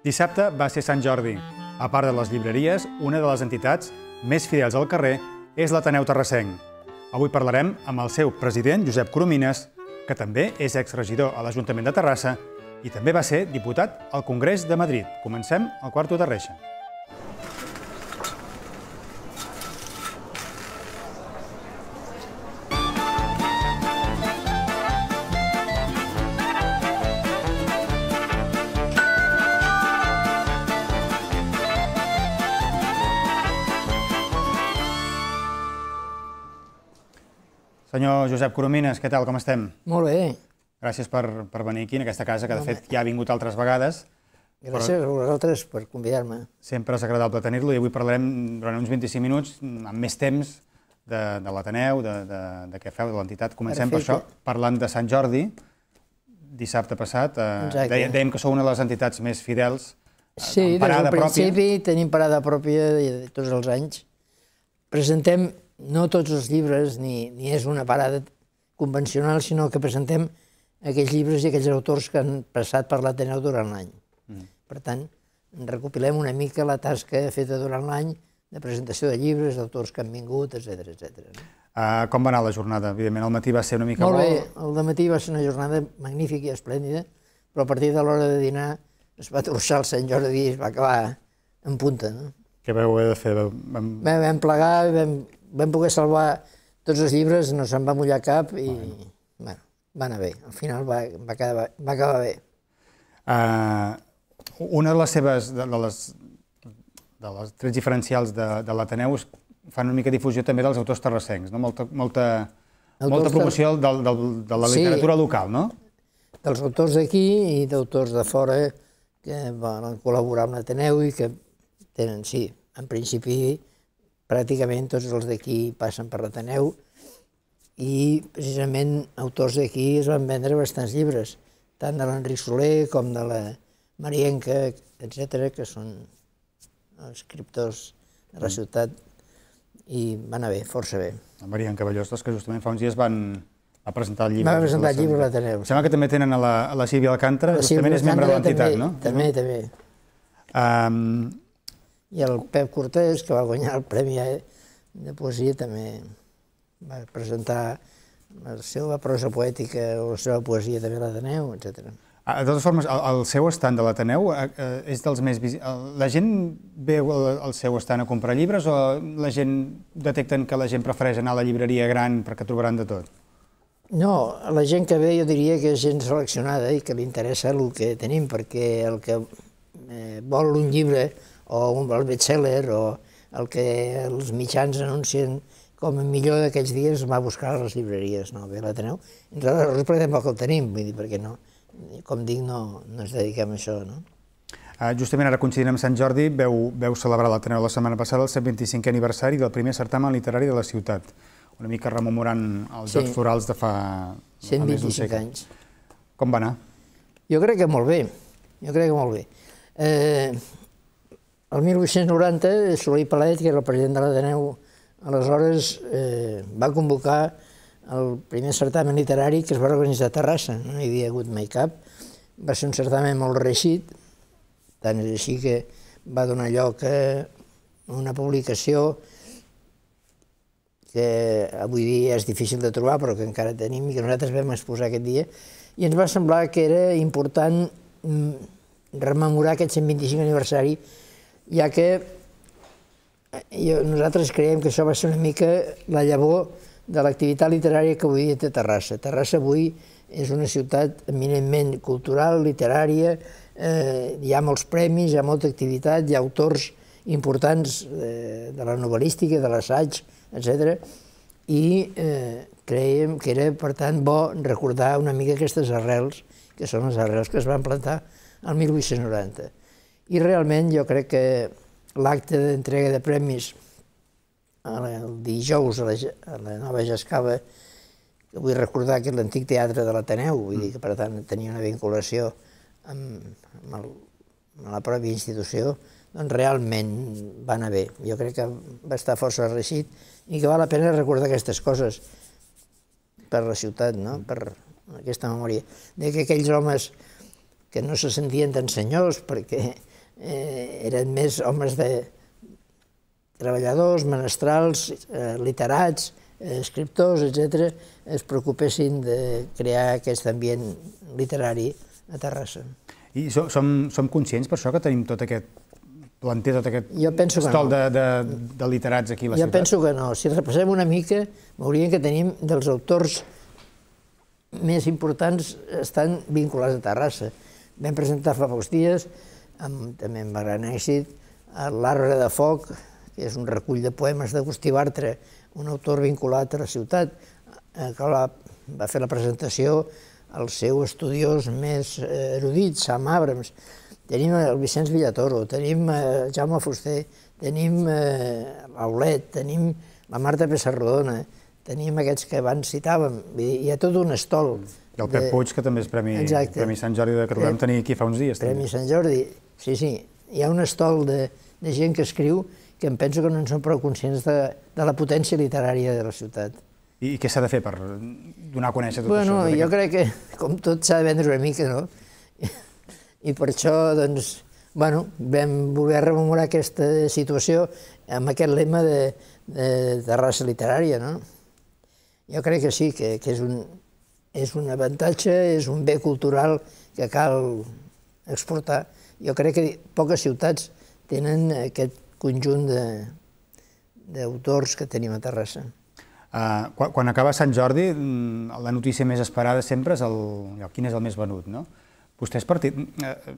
Dissabte va ser Sant Jordi. A part de les llibreries, una de les entitats més fidels al carrer és l'Ateneu Terrassenc. Avui parlarem amb el seu president, Josep Coromines, que també és exregidor a l'Ajuntament de Terrassa i també va ser diputat al Congrés de Madrid. Comencem al Quarto de Reixa. Senyor Josep Coromines, què tal, com estem? Molt bé. Gràcies per venir aquí, en aquesta casa, que de fet ja ha vingut altres vegades. Gràcies a vosaltres per convidar-me. Sempre és agradable tenir-lo i avui parlarem durant uns 25 minuts, amb més temps, de l'Ateneu, de què feu, de l'entitat. Comencem per això, parlant de Sant Jordi, dissabte passat. Dèiem que sou una de les entitats més fidels, amb parada pròpia. Sí, des del principi tenim parada pròpia tots els anys. Presentem no tots els llibres, ni és una parada convencional, sinó que presentem aquells llibres i aquells autors que han passat per l'Ateneu durant l'any. Per tant, recopilem una mica la tasca feta durant l'any de presentació de llibres, d'autors que han vingut, etc. Com va anar la jornada? Evidentment, el matí va ser una mica molt bé, el dematí va ser una jornada magnífica i esplèndida, però a partir de l'hora de dinar es va torçar el Sant Jordi i es va acabar en punta. Què vau haver de fer? Vam plegar, vam poder salvar tots els llibres, no se'n va mullar cap i va anar bé. Al final va acabar bé. Una de les seves, de les trets diferencials de l'Ateneu fan una mica difusió també dels autors terrassencs, molta promoció de la literatura local, no? Dels autors d'aquí i d'autors de fora que van col·laborar amb l'Ateneu i que tenen, sí, en principi, pràcticament tots els d'aquí passen per l'Ateneu i precisament autors d'aquí es van vendre bastants llibres, tant de l'Enric Soler com de la Marienca, etc., que són escriptors de la ciutat i va anar bé, força bé. La Marienca Ballostes, que justament fa uns dies va presentar el llibre. Va presentar el llibre a l'Ateneu. Sembla que també tenen a la Sílvia Alcàntara, justament és membre de l'entitat, no? També. I el Pep Cortés, que va guanyar el Premi de Poesia, també va presentar la seva prosa poètica o la seva poesia també a l'Ateneu, etc. De totes formes, el seu estand de l'Ateneu és dels més visits. La gent veu el seu estand a comprar llibres o la gent detecten que la gent prefereix anar a la llibreria gran perquè trobaran de tot? No, la gent que ve jo diria que és gent seleccionada i que li interessa el que tenim, perquè el que vol un llibre o un bestseller o el que els mitjans anuncien com a millor d'aquells dies va buscar a les llibreries, no? Ve a l'Ateneu. Nosaltres per tampoc el tenim, vull dir, perquè no, com dic, no ens dediquem a això, no? Justament ara coincidint amb Sant Jordi, veu celebrar a l'Ateneu la setmana passada el 125è aniversari del primer certamen literari de la ciutat, una mica rememorant els Jocs Florals de fa 125 anys. Com va anar? Jo crec que molt bé, El 1890, Soler i Palet, que era el president de l'Ateneu, aleshores va convocar el primer certamen literari que es va organitzar a Terrassa, no hi havia hagut mai cap. Va ser un certamen molt reeixit, tant és així que va donar lloc a una publicació que avui dia és difícil de trobar, però que encara tenim i que nosaltres vam exposar aquest dia, i ens va semblar que era important rememorar aquest 125 aniversari, ja que nosaltres creiem que això va ser una mica la llavor de l'activitat literària que avui dia té Terrassa. Terrassa avui és una ciutat eminentment cultural, literària, hi ha molts premis, hi ha molta activitat, hi ha autors importants de la novel·lística, de l'assaig, etc. I creiem que era, per tant, bo recordar una mica aquestes arrels, que són les arrels que es van plantar el 1890. I realment jo crec que l'acte d'entrega de premis el dijous a la Nova Jascava, que vull recordar que és l'antic teatre de l'Ateneu, vull dir que per tant tenia una vinculació amb la pròpia institució, doncs realment va anar bé. Jo crec que va estar força reeixit i que val la pena recordar aquestes coses per la ciutat, per aquesta memòria. Que aquells homes que no se sentien tan senyors perquè eren més homes de treballadors, menestrals, literats, escriptors, etc., es preocupessin de crear aquest ambient literari a Terrassa. I som conscients per això que tenim tot aquest planter, tot aquest estol de literats aquí a la ciutat? Jo penso que no. Si repassem una mica, veuríem que tenim dels autors més importants estan vinculats a Terrassa. Vam presentar fa pocs dies, també amb gran èxit, l'Arbre de Foc, que és un recull de poemes d'Agustí Bartra, un autor vinculat a la ciutat, que va fer la presentació al seu estudiós més erudit, Sam Abrams. Tenim el Vicenç Villatoro, tenim Jaume Fuster, tenim l'Aulet, tenim la Marta Pessarrodona, tenim aquests que abans citàvem. Hi ha tot un estol. I el Pep Puig, que també és Premi Sant Jordi, que el vam tenir aquí fa uns dies. Premi Sant Jordi, sí. Hi ha un estol de gent que escriu que em penso que no en són prou conscients de la potència literària de la ciutat. I què s'ha de fer per donar a conèixer tot això? Bueno, jo crec que, com tot, s'ha de vendre una mica, no? I per això, doncs, bueno, vam voler rememorar aquesta situació amb aquest lema de Terrassa literària, no? Jo crec que sí, que és un avantatge, és un bé cultural que cal exportar. Jo crec que poques ciutats tenen aquest conjunt d'autors que tenim a Terrassa. Quan acaba Sant Jordi, la notícia més esperada sempre és quin és el més venut, no? Vostès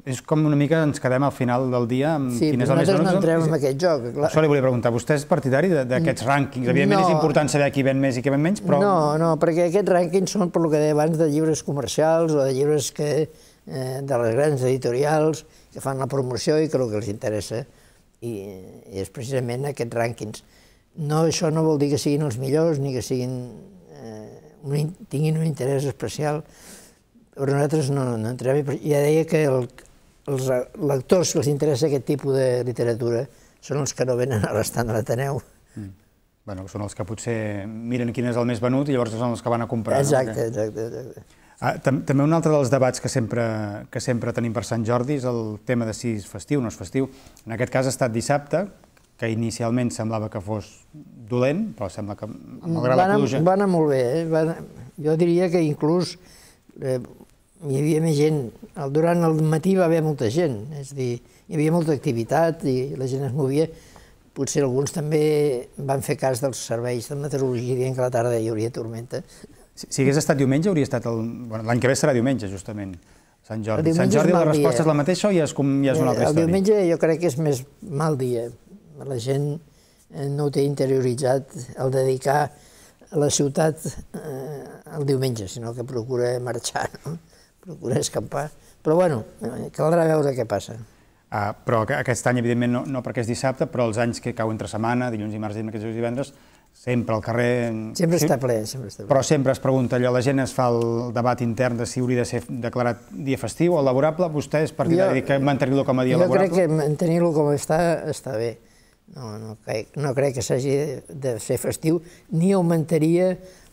és com una mica ens quedem al final del dia amb quin és el més venut. Sí, nosaltres no entrem en aquest joc. Això li volia preguntar. Vostè és partidari d'aquests rànquings? Evidentment és important saber qui ven més i qui ven menys, però... No, perquè aquests rànquings són, per el que deia abans, de llibres comercials o de llibres de les grans editorials que fan la promoció i que el que els interessa i és precisament aquests rànquings. Això no vol dir que siguin els millors ni que tinguin un interès especial, però nosaltres no entrem. Ja deia que els lectors que els interessa aquest tipus de literatura són els que no venen a l'estand de l'Ateneu. Bé, són els que potser miren quin és el més venut i llavors són els que van a comprar. Exacte. També un altre dels debats que sempre tenim per Sant Jordi és el tema de si és festiu o no és festiu. En aquest cas ha estat dissabte, que inicialment semblava que fos dolent, però sembla que, malgrat la pluja... Va anar molt bé. Jo diria que inclús hi havia més gent. Durant el matí va haver molta gent, és a dir, hi havia molta activitat i la gent es movia. Potser alguns també van fer cas dels serveis de meteorologia dient que a la tarda hi hauria tormenta. Si hagués estat diumenge, hauria estat l'any que ve serà diumenge, justament, Sant Jordi. Sant Jordi la resposta és la mateixa o ja és una altra història? El diumenge jo crec que és més mal dia. La gent no ho té interioritzat el dedicar a la ciutat el diumenge, sinó que procura marxar, procura escampar. Però bueno, caldrà veure què passa. Però aquest any, evidentment, no perquè és dissabte, però els anys que cau entre setmana, dilluns i març, dimecres i divendres, sempre al carrer... Sempre està ple, sempre està ple. Però sempre es pregunta allò, la gent es fa el debat intern de si hauria de ser declarat dia festiu o laborable. Vostè és partidari que mantenir-lo com a dia laborable? Jo crec que mantenir-lo com està bé. No crec que s'hagi de ser festiu, ni augmentaria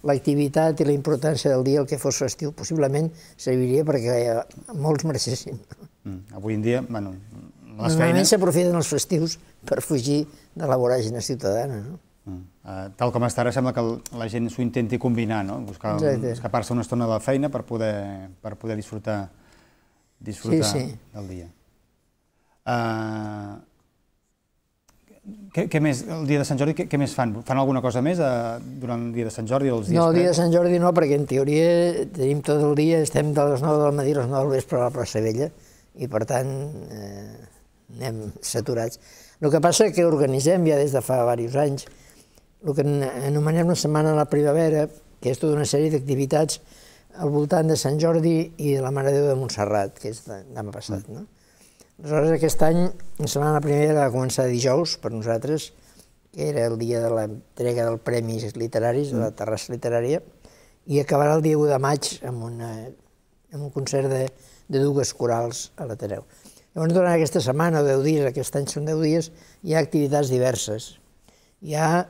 l'activitat i la importància del dia el que fos festiu. Possiblement serviria perquè molts marxessin. Avui en dia, bueno, les feines... Normalment s'aprofiten els festius per fugir de la voràgina ciutadana, no? Tal com està ara, sembla que la gent s'ho intenti combinar, no? Buscar escapar-se una estona de la feina per poder disfrutar del dia. Què més, el dia de Sant Jordi, què més fan? Fan alguna cosa més durant el dia de Sant Jordi o els dies? No, el dia de Sant Jordi no, perquè en teoria tenim tot el dia, estem de les 9 del matí a les 9 del vespre a la plaça Vella i per tant anem saturats. El que passa és que organitzem ja des de fa diversos anys el que anomenem la Setmana de la Primavera, que és tota una sèrie d'activitats al voltant de Sant Jordi i de la Mare de Déu de Montserrat, que és demà passat, no? Aleshores, aquest any, la Setmana de la Primavera va començar dijous per nosaltres, que era el dia de l'entrega dels premis literaris, de la Terrassa Literària, i acabarà el dia 1 de maig amb un concert de dues corals a l'Ateneu. Llavors, durant aquesta setmana, o 10 dies, aquest any són 10 dies, hi ha activitats diverses. Hi ha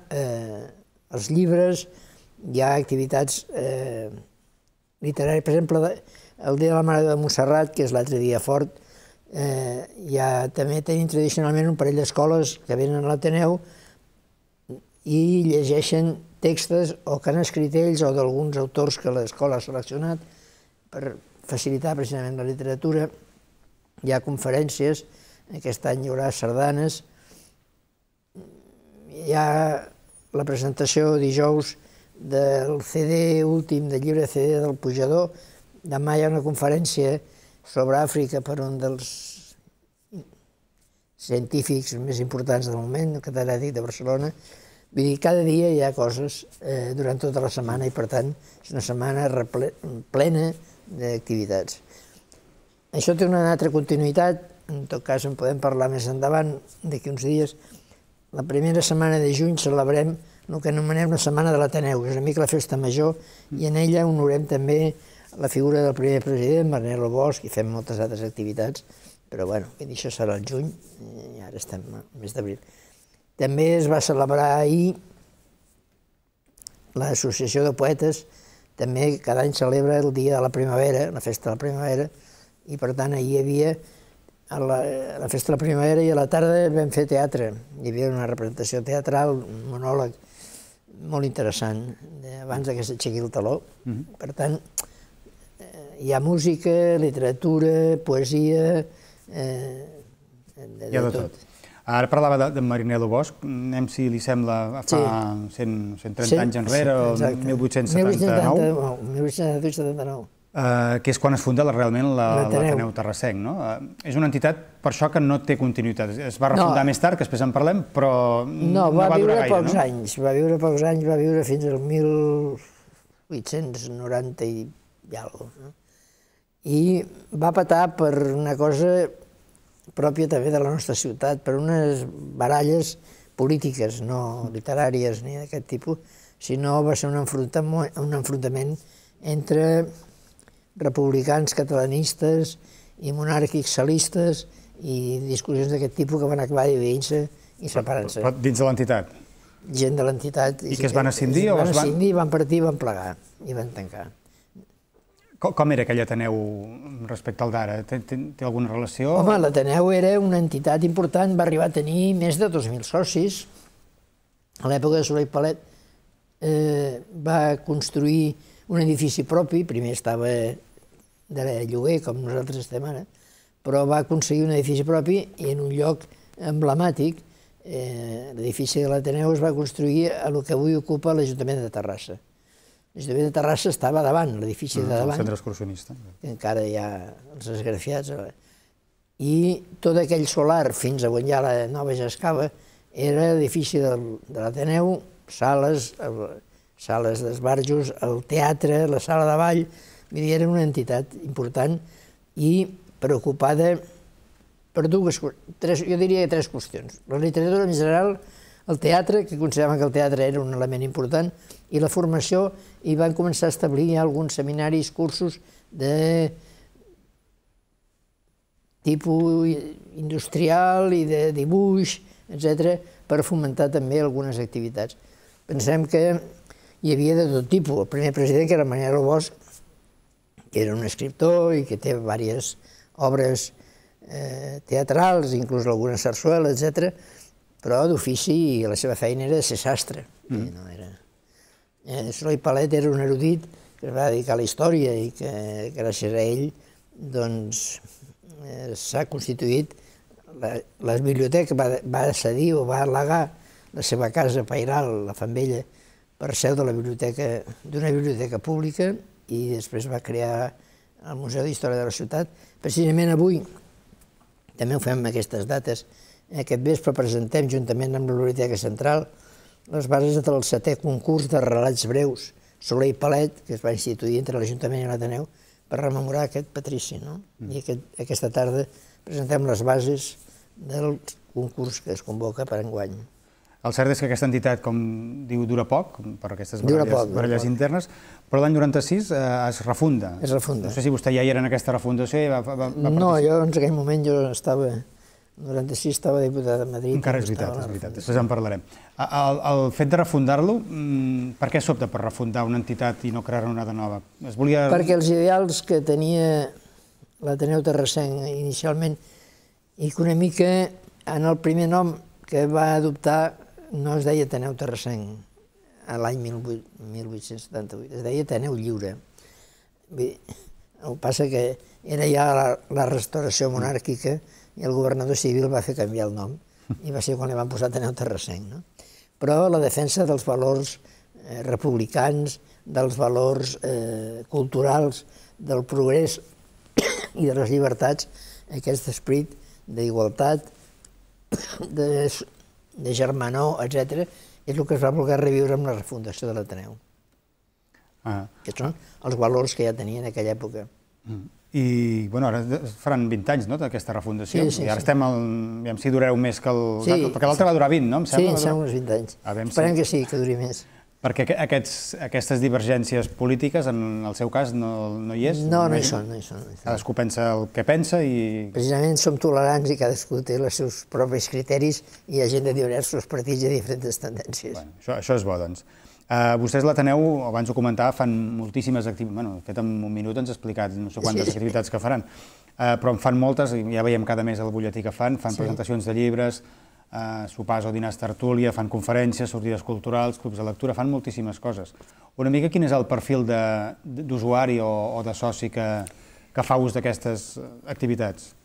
els llibres, hi ha activitats literàries. Per exemple, el dia de la Mare de Montserrat, que és l'altre dia fort, També tenim tradicionalment un parell d'escoles que venen a l'Ateneu i llegeixen textos o que han escrit ells o d'alguns autors que l'escola ha seleccionat per facilitar precisament la literatura. Hi ha conferències, aquest any hi haurà sardanes, hi ha la presentació dijous del CD últim, del llibre CD del Pujador. Demà hi ha una conferència sobre Àfrica per un dels científics més importants del moment, el catedràtic de Barcelona. Vull dir, cada dia hi ha coses durant tota la setmana i, per tant, és una setmana plena d'activitats. Això té una altra continuïtat, en tot cas en podem parlar més endavant, d'aquí uns dies. La primera setmana de juny celebrem el que anomenem la Setmana de l'Ateneu, que és una mica la festa major, i en ella honorem també la figura del primer president, Marnel Bosch, i fem moltes altres activitats, però bueno, això serà el juny, i ara estem al mes d'abril. També es va celebrar ahir l'Associació de Poetes, també cada any celebra el dia de la primavera, la festa de la primavera, i per tant ahir hi havia la festa de la primavera i a la tarda vam fer teatre. Hi havia una representació teatral, un monòleg molt interessant, abans que s'aixequi el teló. Per tant, hi ha música, literatura, poesia, hi ha de tot. Ara parlava de Marnel Bosch, anem si li sembla fa 130 anys enrere, o 1879. 1879. Que és quan es funda realment l'Ateneu Terrassenc, no? És una entitat, per això, que no té continuïtat. Es va refundar més tard, que després en parlem, però no va durar gaire, no? Va viure pocs anys, va viure fins al 1890 i alguna cosa. I va patar per una cosa pròpia també de la nostra ciutat, per unes baralles polítiques, no literàries ni d'aquest tipus, sinó va ser un enfrontament entre republicans catalanistes i monàrquics salistes i discussions d'aquest tipus que van acabar dividint-se i separant-se. Però dins de l'entitat? Gent de l'entitat. I que es van escindir? Es van escindir, van partir, van plegar i van tancar. Com era aquell Ateneu respecte al d'ara? Té alguna relació? Home, l'Ateneu era una entitat important, va arribar a tenir més de 2.000 socis. A l'època de Soler i Palet va construir un edifici propi, primer estava de lloguer, com nosaltres estem ara, però va aconseguir un edifici propi i en un lloc emblemàtic, l'edifici de l'Ateneu es va construir a el que avui ocupa l'Ajuntament de Terrassa. L'Ajuntament de Terrassa estava davant, l'edifici de davant. El centre excursionista. Encara hi ha els esgrafiats. I tot aquell solar, fins a on hi ha la nova Jascava, era l'edifici de l'Ateneu, sales d'esbarjos, el teatre, la sala de ball. Vull dir, era una entitat important i preocupada per dues, jo diria tres qüestions. La literatura en general, el teatre, que consideraven que el teatre era un element important, i la formació, i van començar a establir alguns seminaris, cursos de tipus industrial i de dibuix, etc., per fomentar també algunes activitats. Pensem que hi havia de tot tipus. El primer president, que era Marnel Bosch, que era un escriptor i que té diverses obres teatrals, inclús alguna sarsuela, etc., però d'ofici la seva feina era de ser sastre. Soler i Palet era un erudit que es va dedicar a la història i que gràcies a ell s'ha constituït la biblioteca, va cedir o va al·legar la seva casa pairal, la Fambella, per seu d'una biblioteca pública i després va crear el Museu d'Història de la Ciutat. Precisament avui, també ho fem en aquestes dates, aquest vespre presentem, juntament amb la Biblioteca Central, les bases del 7è concurs de relats breus Soler i Palet, que es va instituir entre l'Ajuntament i l'Ateneu, per rememorar aquest patrici. I aquesta tarda presentem les bases del concurs que es convoca per enguany. El cert és que aquesta entitat, com diu, dura poc, per aquestes baralles internes, però l'any 96 es refunda. Es refunda. No sé si vostè ja hi era en aquesta refundació i va participar. No, jo en aquell moment estava... En 96 estava diputat a Madrid. Encara és veritat, després en parlarem. El fet de refundar-lo, per què s'opta per refundar una entitat i no crear una de nova? Perquè els ideals que tenia l'Ateneu Terrassenc inicialment, i que una mica en el primer nom que va adoptar no es deia Ateneu Terrassenc a l'any 1878, es deia Ateneu Lliure. El que passa que era ja la restauració monàrquica i el governador civil va fer canviar el nom i va ser quan li van posar Ateneu Terrassenc. Però la defensa dels valors republicans, dels valors culturals, del progrés i de les llibertats, aquest esperit d'igualtat, de germanor, etc., és el que es va voler reviure amb la refundació de l'Ateneu. Aquests són els valors que ja tenia en aquella època. I, bueno, ara faran 20 anys, no?, d'aquesta refundació. Sí. I ara estem, aviam si dureu més que el... Perquè l'altre va durar 20, no? Sí, em sembla uns 20 anys. Esperem que sí, que duri més. Perquè aquestes divergències polítiques, en el seu cas, no hi és? No, no hi són. Cadascú pensa el que pensa i... Precisament som tolerants i cadascú té els seus propis criteris i hi ha gent de diversos partits i diferents tendències. Això és bo, doncs. Vostès l'Ateneu, abans ho comentava, fan moltíssimes activitats. Bueno, de fet, en un minut ens ha explicat no sé quantes activitats que faran, però en fan moltes, i ja veiem cada mes el butlletí que fan presentacions de llibres, sopars o dinars tertúlia, fan conferències, sortides culturals, clubs de lectura, fan moltíssimes coses. Una mica quin és el perfil d'usuari o de soci que fa ús d'aquestes activitats?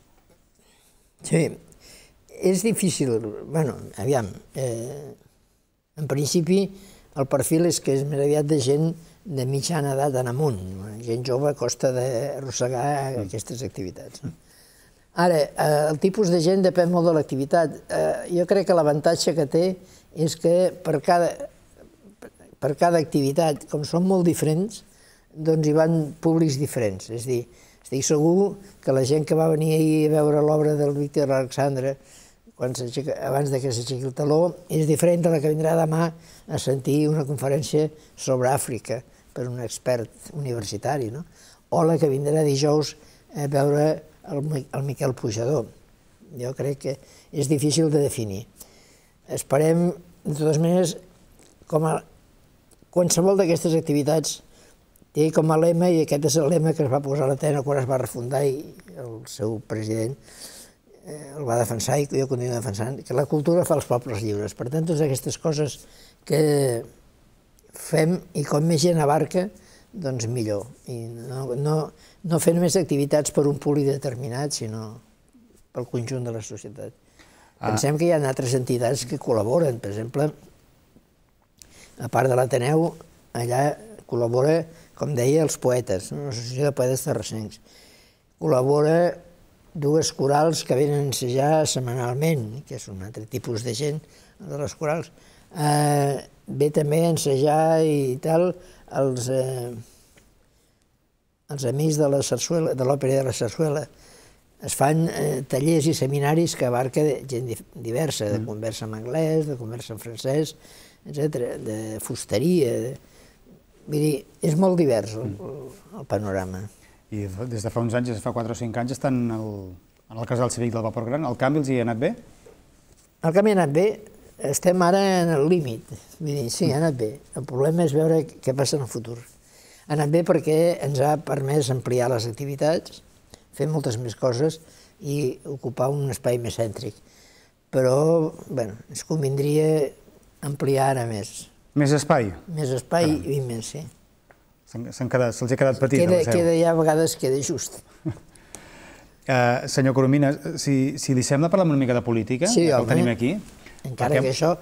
Sí, és difícil. Bé, aviam, en principi el perfil és que és més aviat de gent de mitjana edat en amunt. Gent jove costa d'arrossegar aquestes activitats. Ara, el tipus de gent depèn molt de l'activitat. Jo crec que l'avantatge que té és que per cada activitat, com són molt diferents, doncs hi van públics diferents. És a dir, estic segur que la gent que va venir ahir a veure l'obra del Víctor Alexandre abans que s'aixequi el teló és diferent de la que vindrà demà a sentir una conferència sobre Àfrica per un expert universitari, o la que vindrà dijous a veure el Miquel Pujador. Jo crec que és difícil de definir. Esperem, de totes maneres, qualsevol d'aquestes activitats té com a lema, i aquest és el lema que es va posar a l'Ateneu quan es va refundar i el seu president el va defensar i jo continuo defensant, que la cultura fa els pobles lliures. Per tant, totes aquestes coses que fem i com més gent abarca, doncs millor. I no fer només activitats per un públic determinat, sinó pel conjunt de la societat. Pensem que hi ha altres entitats que col·laboren. Per exemple, a part de l'Ateneu, allà col·labora, com deia, els poetes, l'Associació de Poetes Terrassencs. Col·labora dues corals que venen a ensejar setmanalment, que és un altre tipus de gent, de les corals. Ve també a ensejar i tal els amics de la sarsuela, de l'òpera de la sarsuela. Es fan tallers i seminaris que abarca gent diversa, de conversa en anglès, de conversa en francès, etc., de fusteria. Vull dir, és molt divers el panorama. I des de fa uns anys, des de fa 4 o 5 anys, estan en el casal cívic del Vapor Gran. El canvi els hi ha anat bé? El canvi ha anat bé. Estem ara en el límit. Vull dir, sí, ha anat bé. El problema és veure què passa en el futur. Ha anat bé perquè ens ha permès ampliar les activitats, fer moltes més coses i ocupar un espai més cèntric. Però, bé, ens convindria ampliar ara més. Més espai? Més espai i més, sí. Se'ls ha quedat petit a la seu. Ja a vegades queda just. Senyor Coromines, si li sembla parlar una mica de política, que el tenim aquí. Encara que això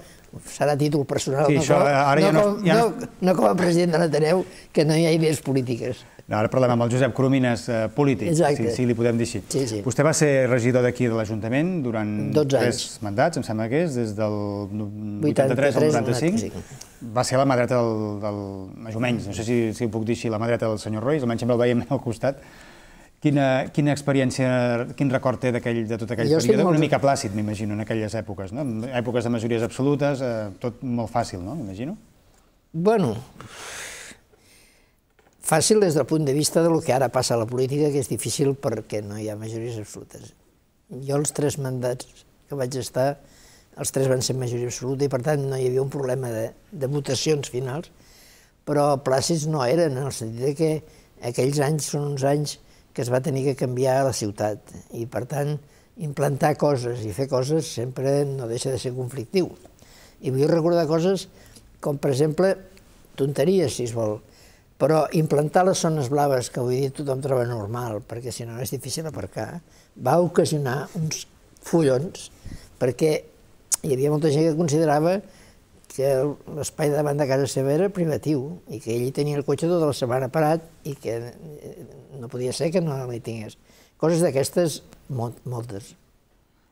serà títol personal, no com a president de l'Ateneu, que no hi ha idees polítiques. Ara parlem amb el Josep Coromines, polític, si li podem dir així. Vostè va ser regidor d'aquí de l'Ajuntament durant 3 mandats, em sembla que és, des del 83 al 95. Va ser la mà dreta més o menys, no sé si ho puc dir així, la mà dreta del senyor Roy, almenys sempre el veiem al costat. Quina experiència, quin record té de tot aquell període? Una mica plàcid, m'imagino, en aquelles èpoques, no? Èpoques de majories absolutes, tot molt fàcil, no? M'imagino. Bueno, fàcil des del punt de vista del que ara passa a la política, que és difícil perquè no hi ha majories absolutes. Jo els 3 mandats que vaig estar, els 3 van ser majoria absoluta i per tant no hi havia un problema de votacions finals, però plàcids no eren, en el sentit que aquells anys són uns anys que es va tenir que canviar a la ciutat. I, per tant, implantar coses i fer coses sempre no deixa de ser conflictiu. I vull recordar coses com, per exemple, tonteries, si es vol, però implantar les zones blaves, que avui dia tothom troba normal, perquè si no és difícil aparcar, va ocasionar uns follons, perquè hi havia molta gent que considerava que l'espai davant de casa seva era privatiu i que ell hi tenia el cotxe tota la setmana parat i que no podia ser que no hi tingués. Coses d'aquestes, moltes.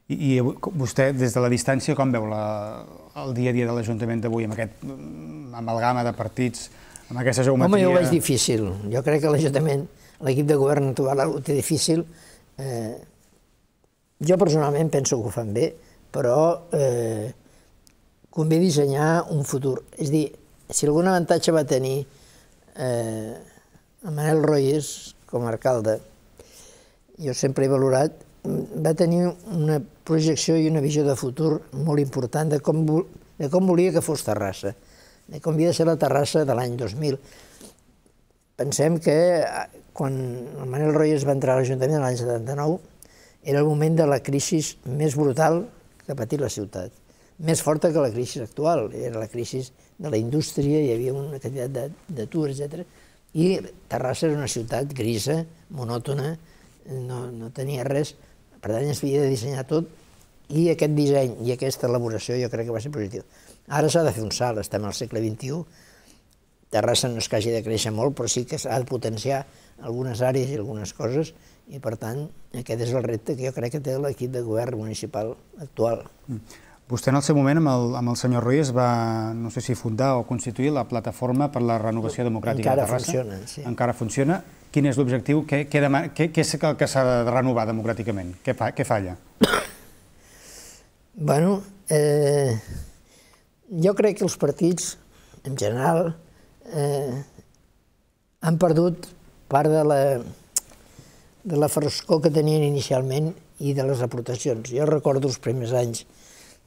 I vostè, des de la distància, com veu el dia a dia de l'Ajuntament d'avui, amb aquest amalgama de partits, amb aquesta geometria? Home, jo ho veig difícil. Jo crec que l'Ajuntament, l'equip de govern actual ho té difícil. Jo personalment penso que ho fan bé, però convé dissenyar un futur. És a dir, si algun avantatge va tenir Manel Royes com a alcalde, jo sempre he valorat, va tenir una projecció i una visió de futur molt important de com volia que fos Terrassa, de com havia de ser la Terrassa de l'any 2000. Pensem que quan el Manel Royes va entrar a l'Ajuntament l'any 79 era el moment de la crisi més brutal que ha patit la ciutat, més forta que la crisi actual. Era la crisi de la indústria, hi havia una quantitat d'atur, etc. I Terrassa era una ciutat grisa, monòtona, no tenia res, per tant es havia de dissenyar tot, i aquest disseny i aquesta elaboració jo crec que va ser positiu. Ara s'ha de fer un salt, estem al segle XXI, Terrassa no és que hagi de créixer molt, però sí que s'ha de potenciar algunes àrees i algunes coses, i per tant aquest és el repte que jo crec que té l'equip de govern municipal actual. Vostè en el seu moment amb el senyor Royes va, no sé si fundar o constituir la Plataforma per la Renovació Democràtica de Terrassa. Encara funciona, sí. Encara funciona. Quin és l'objectiu? Què és el que s'ha de renovar democràticament? Què falla? Bueno, jo crec que els partits, en general, han perdut part de la frescor que tenien inicialment i de les aportacions. Jo recordo els primers anys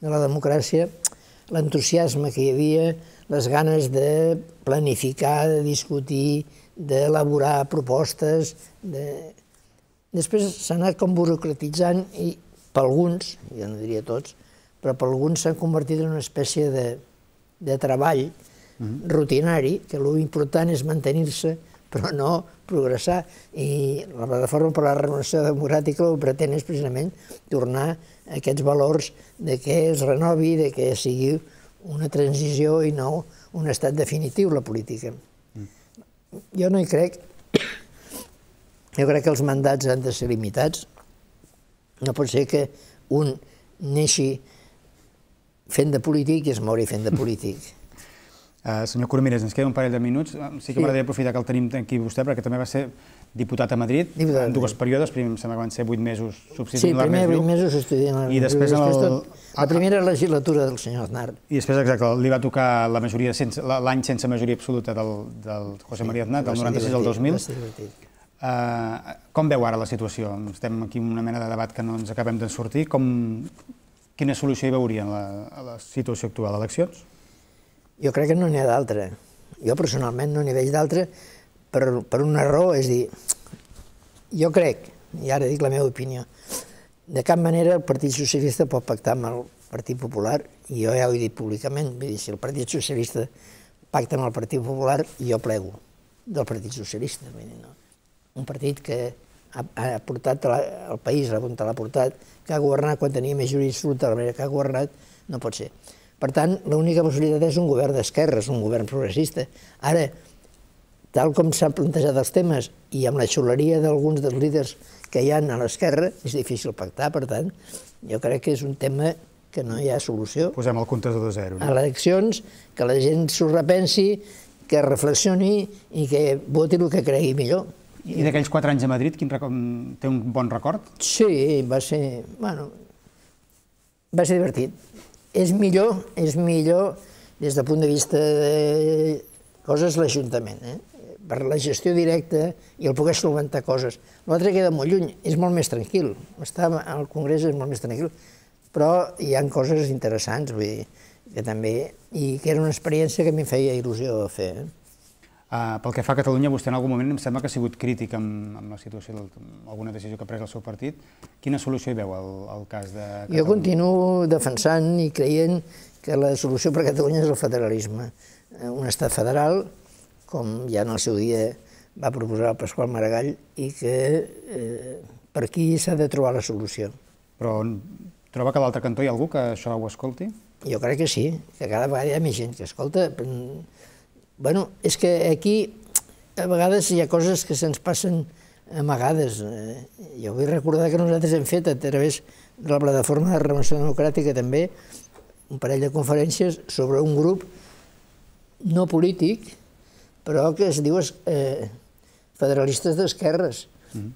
de la democràcia, l'entusiasme que hi havia, les ganes de planificar, de discutir, d'elaborar propostes. Després s'ha anat com burocratitzant i per alguns, jo no diria tots, però per alguns s'han convertit en una espècie de treball rutinari, que l'important és mantenir-se, però no progressar. I la Plataforma per la Renovació Democràtica el que pretén és precisament tornar a aquests valors de que es renovi, de que sigui una transició i no un estat definitiu, la política. Jo no hi crec. Jo crec que els mandats han de ser limitats. No pot ser que un neixi fent de polític i es mori fent de polític. Senyor Coromines, ens queda un parell de minuts. Sí que m'agradaria aprofitar que el tenim aquí vostè, perquè també va ser diputat a Madrid en dues períodes. Primer em sembla que van ser 8 mesos substituint l'Ernest Lluch. Sí, primer 8 mesos substituint l'Ernest Lluch. La primera legislatura del senyor Aznar. I després, exacte, li va tocar l'any sense majoria absoluta del José María Aznar, del 96 al 2000. Com veu ara la situació? Estem aquí en una mena de debat que no ens acabem de sortir. Quina solució hi veurien a la situació actual? Eleccions? Jo crec que no n'hi ha d'altra. Jo personalment no n'hi veig d'altra per una raó, és dir, jo crec, i ara dic la meva opinió, de cap manera el Partit Socialista pot pactar amb el Partit Popular, i jo ja ho he dit públicament, vull dir, si el Partit Socialista pacta amb el Partit Popular, jo plego del Partit Socialista. Un partit que ha portat el país on l'ha portat, que ha governat quan tenia majoria absoluta de la manera que ha governat, no pot ser. Per tant, l'única possibilitat és un govern d'esquerres, un govern progressista. Ara, tal com s'han plantejat els temes i amb la xuleria d'alguns dels líders que hi ha a l'esquerra, és difícil pactar. Per tant, jo crec que és un tema que no hi ha solució. Posem el comptador de zero. A eleccions, que la gent s'ho repensi, que reflexioni i que voti el que cregui millor. I d'aquells 4 anys a Madrid, té un bon record? Sí, va ser divertit. És millor des del punt de vista de coses l'Ajuntament, per la gestió directa i el poder solventar coses. L'altre queda molt lluny, és molt més tranquil. Estar al Congrés és molt més tranquil, però hi ha coses interessants, vull dir, que també, i que era una experiència que a mi em feia il·lusió fer. Pel que fa a Catalunya, vostè en algun moment em sembla que ha sigut crític amb la situació, amb alguna decisió que ha pres el seu partit. Quina solució hi veu al cas de Catalunya? Jo continuo defensant i creient que la solució per a Catalunya és el federalisme. Un estat federal, com ja en el seu dia va proposar el Pasqual Maragall, i que per aquí s'ha de trobar la solució. Però troba que a l'altre cantó hi ha algú que això ho escolti? Jo crec que sí, que cada vegada hi ha més gent que escolta. Bueno, és que aquí a vegades hi ha coses que se'ns passen amagades. Jo vull recordar que nosaltres hem fet a través de la plataforma de Renovació Democràtica també un parell de conferències sobre un grup no polític, però que es diu federalistes d'esquerres,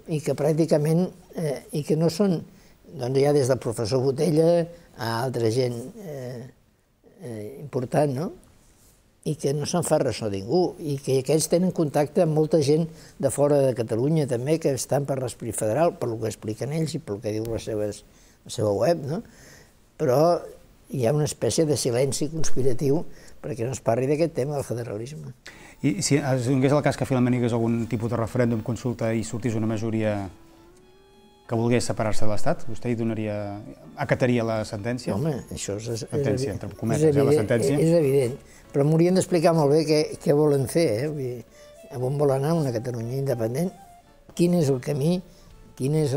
i que pràcticament, i que no són, doncs ja des del professor Botella a altra gent important, no? I que no se'n fa ressò ningú, i que aquests tenen contacte amb molta gent de fora de Catalunya també, que estan per l'esperit federal, per el que expliquen ells i pel que diu la seva web, no? Però hi ha una espècie de silenci conspiratiu perquè no es parli d'aquest tema del federalisme. I si es donés el cas que finalment hi hagués algun tipus de referèndum, consulta i sortís una majoria que volgués separar-se de l'Estat, vostè hi acataria la sentència? Home, això és evident. Però m'haurien d'explicar molt bé què volen fer, a on vol anar una Catalunya independent, quin és el camí, quina és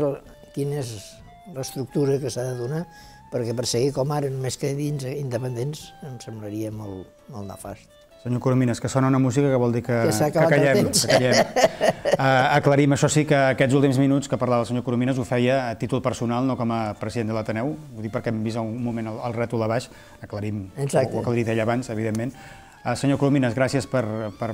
l'estructura que s'ha de donar, perquè per seguir com ara només que dins independents em semblaria molt nefast. Senyor Coromines, que sona una música que vol dir que callem. Aclarim, això sí, que aquests últims minuts que parlava el senyor Coromines ho feia a títol personal, no com a president de l'Ateneu. Ho dic perquè hem vist un moment el rètol a baix. Aclarim el que li deia abans, evidentment. Senyor Coromines, gràcies per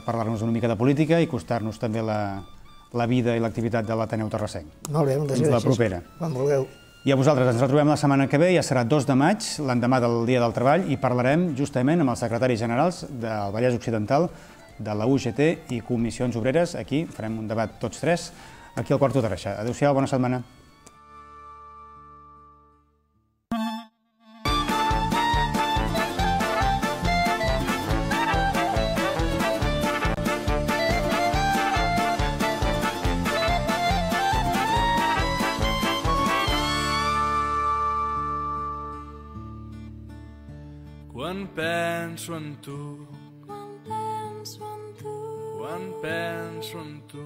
parlar-nos una mica de política i acostar-nos també la vida i l'activitat de l'Ateneu Terrassenc. Molt bé, moltes gràcies. Fins la propera. Quan vulgueu. I a vosaltres, ens retrobem la setmana que ve, ja serà 2 de maig, l'endemà del Dia del Treball, i parlarem justament amb els secretaris generals del Vallès Occidental, de la UGT i Comissions Obreres. Aquí farem un debat tots tres, aquí al Quarto de Reixa. Adéu-siau, bona setmana. Quan penso en tu, quan penso en tu, quan penso en tu,